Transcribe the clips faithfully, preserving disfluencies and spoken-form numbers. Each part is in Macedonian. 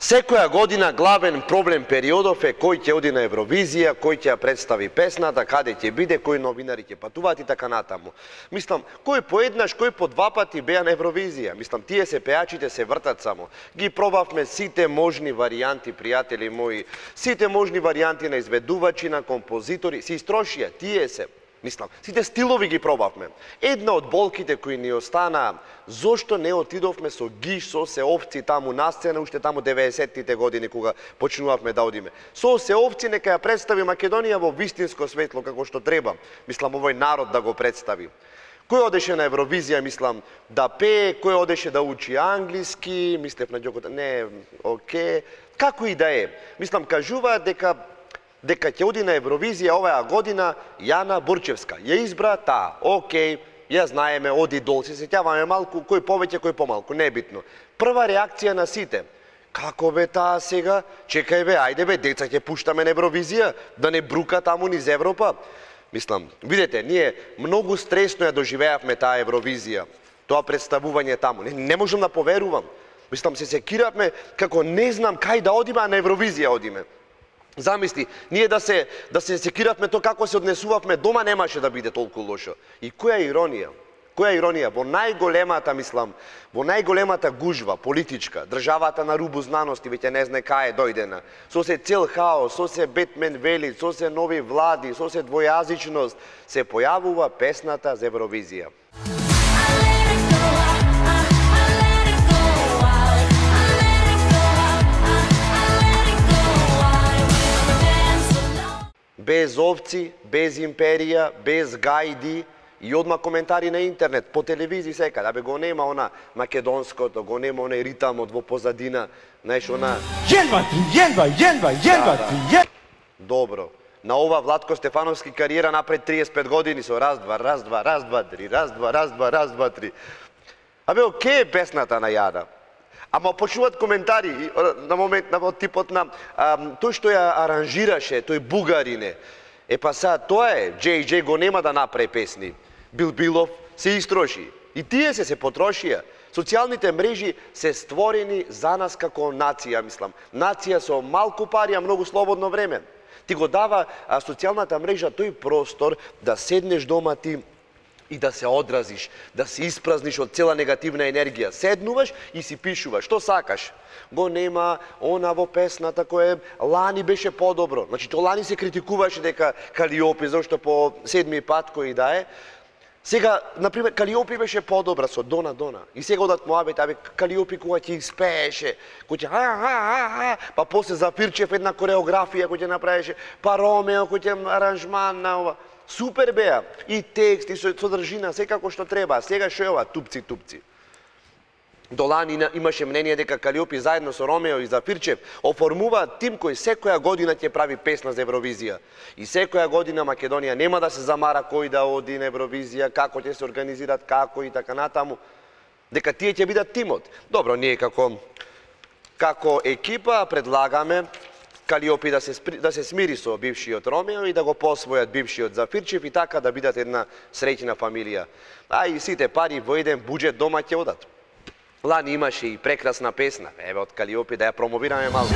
Секоја година главен проблем периодов е кој ќе оди на Евровизија, кој ќе ја представи песната, каде ќе биде, кои новинари ќе патуваат и така натаму. Мислам, кој поеднаш, кој по два пати беа на Евровизија. Мислам, тие се пеачите се вртат само. Ги пробавме сите можни варијанти, пријатели мои, сите можни варијанти на изведувачи, на композитори, се истрошија, тие се. Мислам, сите стилови ги пробавме. Една од болките кои ни останаа, зошто не отидовме со гиш, со се овци таму на сцена, уште таму деветдесеттите години, кога почнувавме да одиме. Со се овци нека ја представи Македонија во вистинско светло, како што треба. Мислам, овој народ да го представи. Кој одеше на Евровизија, мислам, да пее, кој одеше да учи англиски, мислев на џокот, не, оке, како и да е. Мислам, кажуваат дека дека ќе оди на Евровизија оваа година Јана Бурчевска. Ја избра таа, окей, ја знаеме, оди дол, се сеќаваме малку, кој повеќе, кој помалку, не е битно. Прва реакција на сите, како бе таа сега, чекај бе, ајде бе, деца ќе пуштаме на Евровизија, да не брука таму низ Европа. Мислам, видете, ние многу стресно ја доживеавме таа Евровизија, тоа представување таму, не, не можам да поверувам. Мислам, се секиравме како не знам кај да одиме, а на Евровизија одиме. Замисли, ние да се да се секиравме тоа како се однесувавме дома, немаше да биде толку лошо. И која иронија? Која иронија? Во најголемата, мислам, во најголемата гужва политичка, државата на рубу знаности веќе не знае кај е дојдена. Со се цел хаос, со се Бетмен вели, со се нови влади, со се двојазичност, се појавува песната за Евровизија. Без овци, без империја, без гајди и одма коментари на интернет, по телевизија секаде. Абе го нема она македонското, го нема онај ритамот во позадина, знаеш, она... Јенва три, јенва, јенва, јенва три, јенва... Добро. На ова Владко Стефановски кариера напред триесет и пет години со раз, два, раз, два, раз, два, три, раз, два, раз, два, раз, два, три. Абе, оке е песната на Јана. Ама почнуваат коментари на момент на типот на а, тој што ја аранжираше, тој бугарине. Е па са, тоа е, Джей Джей го нема да направи песни. Бил Билов се истроши. И тие се се потрошија. Социјалните мрежи се створени за нас како нација, мислам. Нација со малку пари, а многу слободно време. Ти го дава а, социјалната мрежа тој простор да седнеш дома ти и да се одразиш, да се испразниш од цела негативна енергија. Седнуваш и си пишуваш, што сакаш. Го нема она во песната која лани беше подобро. Значи, то лани се критикуваше дека Калиопи, зашто по седми пат кој да е. Сега, например, Калиопи беше подобра со Дона Дона. И сега одат муабет, абе, Калиопи кога ќе испееше, кој ќе ха-ха-ха-ха, па после Зафирчев една кореографија кој ќе направеше, па Ромео кој ќе аранжман на ова. Супер беа, и текст, и содржина, секако што треба. Сега шо е ова, тупци, тупци. Долани имаше мнение дека Калиопи заедно со Ромео и Зафирчев оформуваат тим кој секоја година ќе прави песна за Евровизија. И секоја година Македонија нема да се замара кој да оди на Евровизија, како ќе се организират, како и така натаму. Дека тие ќе бидат тимот. Добро, ние како, како екипа предлагаме Калиопи да се, да се смири со бившиот Ромео и да го посвојат бившиот Зафирчев и така да бидат една среќна фамилија. А и сите пари во еден буџет дома ќе одат. Лани имаше и прекрасна песна, еве од Калиопи да ја промовираме малку.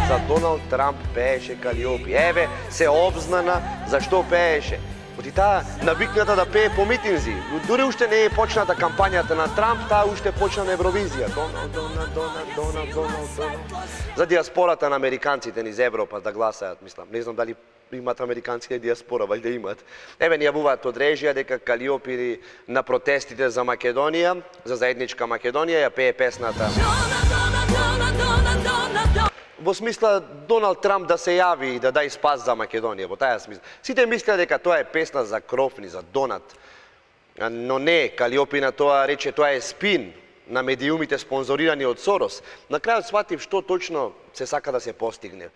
За Доналд Трамп пееше Калиопи. Еве, се обзнана зашто пееше. Оти таа навикната да пее по митинзи. Дури уште не е почната кампањата на Трамп, таа уште почна на Евровизија. Доналд, Доналд, Доналд, Доналд, Доналд, Доналд. За диаспората на американците низ Европа да гласаат, мислам. Не знам дали имат американците диаспора, валјда имат. Еве ни јавуваат од режија дека Калиопи на протестите за Македонија, за заедничка Македонија, ја пее песната. Во смисла Доналд Трамп да се јави и да дај спас за Македонија, во таја смисла. Сите мислеа дека тоа е песна за Крофни, за Донат. Но не, Калиопи на тоа рече тоа е спин на медиумите спонзорирани од Сорос. На крајот сватив што точно се сака да се постигне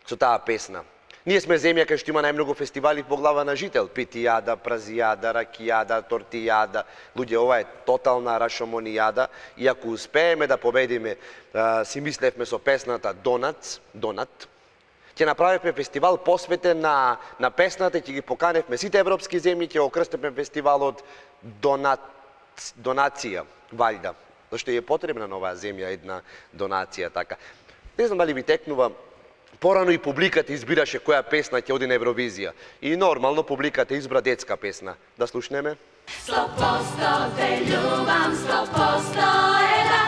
со таа песна. Ние сме земја кај што има најмногу фестивали по глава на жител. Питијада, празијада, ракијада, тортијада. Луѓе, ова е тотална рашомонијада. И ако успееме да победиме, а, си мислевме со песната Донат, Донат, ќе направиме фестивал посветен на, на песната, ќе ги поканевме сите европски земји, ќе окрстиме фестивалот Донат, Донација, валјда. Зашто е потребна на оваа земја една донација така. Не знам дали ви текнува, порано и публиката избираше која песна ќе оди на Евровизија. И нормално публиката избра детска песна. Да слушнеме? Sto posto te ljubam, sto posto je da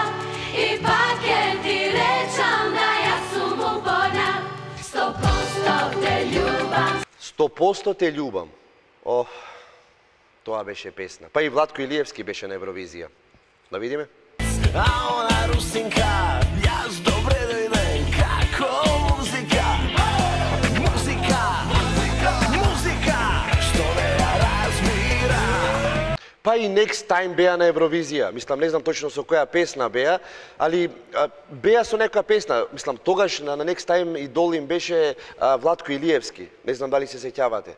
I pak je ti rečam da ja sum uporna Sto posto te ljubam Сто посто те љубам. О, тоа беше песна. Па и Владко Илиевски беше на Евровизија. Да видиме? A ona Rusinka, јас добре дојден, како музика, музика, музика, што не ја разбира. Па и Next Time беа на Евровизија. Мислам, не знам точно со која песна беа, али а, беа со некоја песна. Мислам, тогаш на, на Next Time идол им беше а, Владко Илиевски. Не знам дали се сеќавате.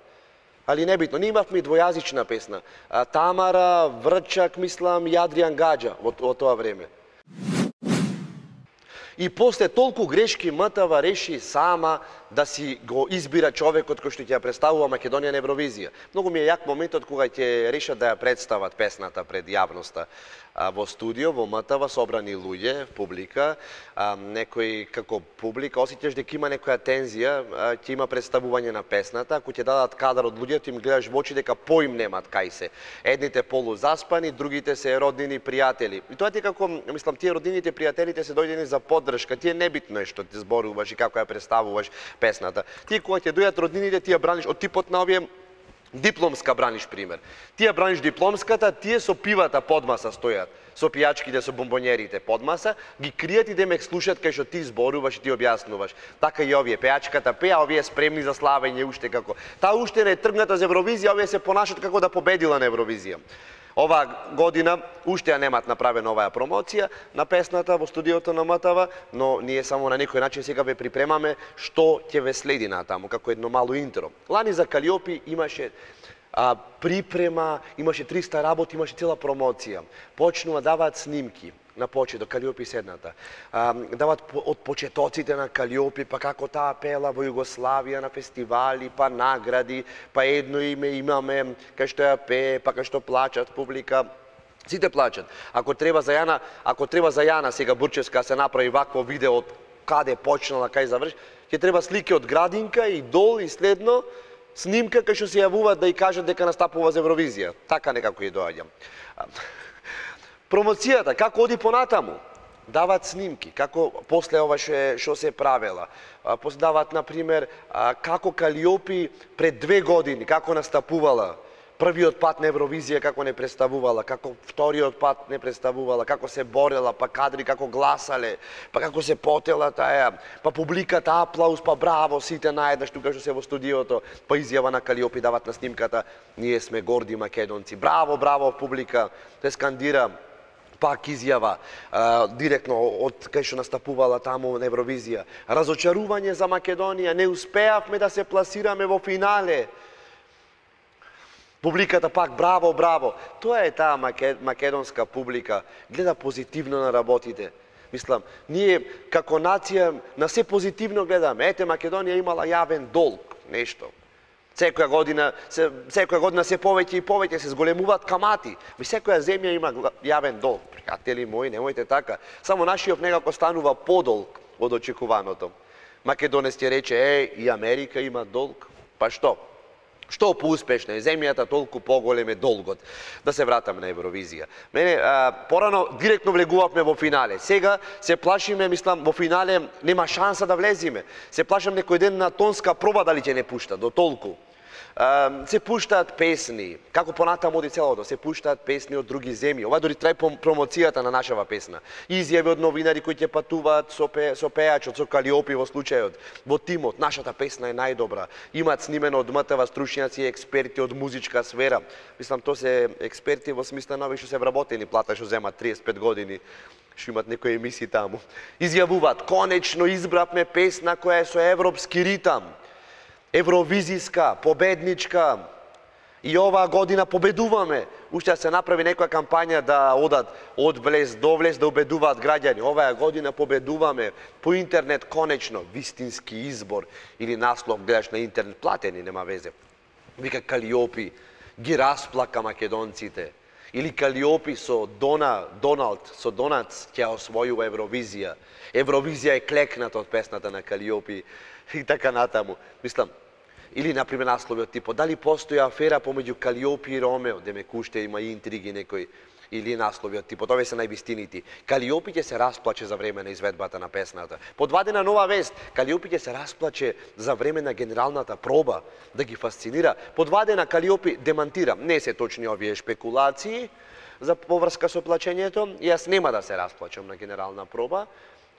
Али небитно, ние имавме и двојазична песна. А, Тамара, Врчак, мислам, и Адриан Гаджа во, во тоа време. И после толку грешки МТВ реши сама да си го избира човекот кој што ќе ја представува Македонија на Евровизија. Многу ми е јак моментот кога ќе решат да ја представат песната пред јавноста. А, во студио, во МТВ, собрани луѓе, публика, а, некој како публика, осеќаш дека има некоја тензија, а, ќе има представување на песната, ако ќе дадат кадар од луѓето, им гледаш во очи дека поим немат кај се. Едните полузаспани, другите се роднини пријатели. И тоа ти како, мислам, тие роднините пријателите се дојдени за поддршка, тие небитно е што ти зборуваш и како ја представуваш песната. Тие кога ќе дојдат роднините, ти ја браниш од типот на овие дипломска браниш пример. Ти ја браниш дипломската, тие со пивата под маса стојат, со пијачките, со бомбонерите под маса, ги кријат и демек слушат кај што ти зборуваш и ти објаснуваш. Така и овие пејачката пеа, овие спремни за славење уште како. Таа уште не е тргната за Евровизија, овие се понашат како да победила на Евровизија. Оваа година уште ја немат направена оваа промоција на песната во студиото на МТВ, но ние само на некој начин сега ве припремаме што ќе ве следи натаму, како едно мало интро. Лани за Калиопи имаше а, припрема, имаше триста работи, имаше цела промоција. Почнува даваат снимки на почеток, Калиопи седната. А, дават од почетоците на Калиопи, па како таа пела во Југославија на фестивали, па награди, па едно име имаме кај што ја пее, па кај што плачат публика. Сите плачат. Ако треба за Јана, ако треба за Јана сега Бурчевска се направи вакво видео од каде почнала, кај заврши, ќе треба слики од градинка и дол и следно снимка кај што се јавуваат да и кажат дека настапува за Евровизија. Така некако и доаѓам. Промоцијата, како оди понатаму? Дават снимки, како после ова што се правела. После дават, например, како Калиопи пред две години, како настапувала. Првиот пат на Евровизија како не представувала, како вториот пат не представувала, како се борела, па кадри како гласале, па како се потела таја, па публиката аплауз, па браво сите наеднаш тука што се во студиото, па изјава на Калиопи дават на снимката, ние сме горди македонци. Браво, браво публика, се скандира. Пак изјава а, директно од кај што настапувала таму на Евровизија. Разочарување за Македонија, не успеавме да се пласираме во финале. Публиката пак браво, браво. Тоа е таа македонска публика, гледа позитивно на работите. Мислам, ние како нација на се позитивно гледаме. Ете, Македонија имала јавен долг, нешто. Секоја година, се, секоја година се повеќе и повеќе се зголемуваат камати. Ви секоја земја има јавен долг. Пријатели мои, немојте така. Само нашиот некако станува подолг од очекуваното. Македонец ќе рече, е, и Америка има долг. Па што? Што поуспешна е земјата, толку поголем е долгот. Да се вратам на Евровизија. Мене, а, порано директно влегувавме во финале. Сега се плашиме, мислам, во финале нема шанса да влезиме. Се плашам некој ден на тонска проба дали ќе не пушта, до толку. Uh, се пуштаат песни, како понатаму оди целото, се пуштаат песни од други земји. Ова дори трај промоцијата на нашава песна. Изјави од новинари кои ќе патуваат со, пе, со пејачот, со Калиопи во случајот, во тимот. Нашата песна е најдобра. Имаат снимено од МТВ стручњаци и експерти од музичка сфера. Мислам, то се експерти во смисла на овие што се вработени плата, што земат триесет и пет години, што имат некои емисии таму. Изјавуваат, конечно избравме песна која е со европски ритам. Евровизиска, победничка, и оваа година победуваме. Уште се направи некоја кампања да одат од влез до влез да убедуваат граѓани. Оваа година победуваме по интернет конечно, вистински избор или наслов гледаш на интернет, платени, нема везе. Вика Калиопи, ги расплака македонците. Или Калиопи со Дона, Доналд, со Донац ќе освојува Евровизија. Евровизија е клекната од песната на Калиопи и така натаму. Мислам, или, например, наслови од типот, дали постои афера помеѓу Калиопи и Ромео, демек уште има и интриги некои, или наслови од типот, овие се највистините. Калиопи ќе се расплаче за време на изведбата на песната. Подвадена нова вест, Калиопи ќе се расплаче за време на генералната проба, да ги фасцинира. Подвадена Калиопи демантира, не се точни овие шпекулации за поврска со плачењето, јас нема да се расплачам на генерална проба,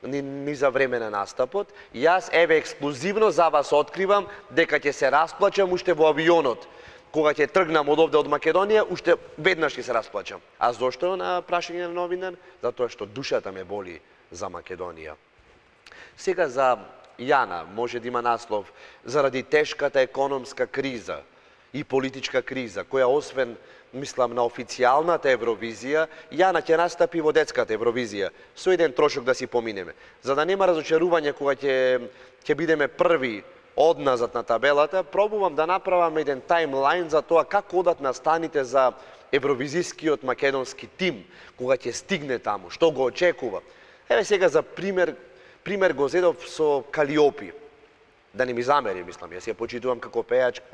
Ни, ни за време на настапот. Јас, еве, ексклузивно за вас откривам дека ќе се расплачам уште во авионот. Кога ќе тргнам од овде од Македонија, уште веднаш ќе се расплачам. А зошто на прашање на новинар? Затоа што душата ме боли за Македонија. Сега за Јана може да има наслов заради тешката економска криза и политичка криза, која освен, мислам, на официјалната Евровизија, Јана ќе настапи во детската Евровизија, со еден трошок да си поминеме. За да нема разочарување кога ќе, ќе бидеме први одназад на табелата, пробувам да направам еден таймлайн за тоа како одат настаните за евровизискиот македонски тим, кога ќе стигне таму, што го очекува. Еве сега за пример, пример го зедов со Калиопи. Да не ми замери, мислам, јас ја почитувам како пејачка.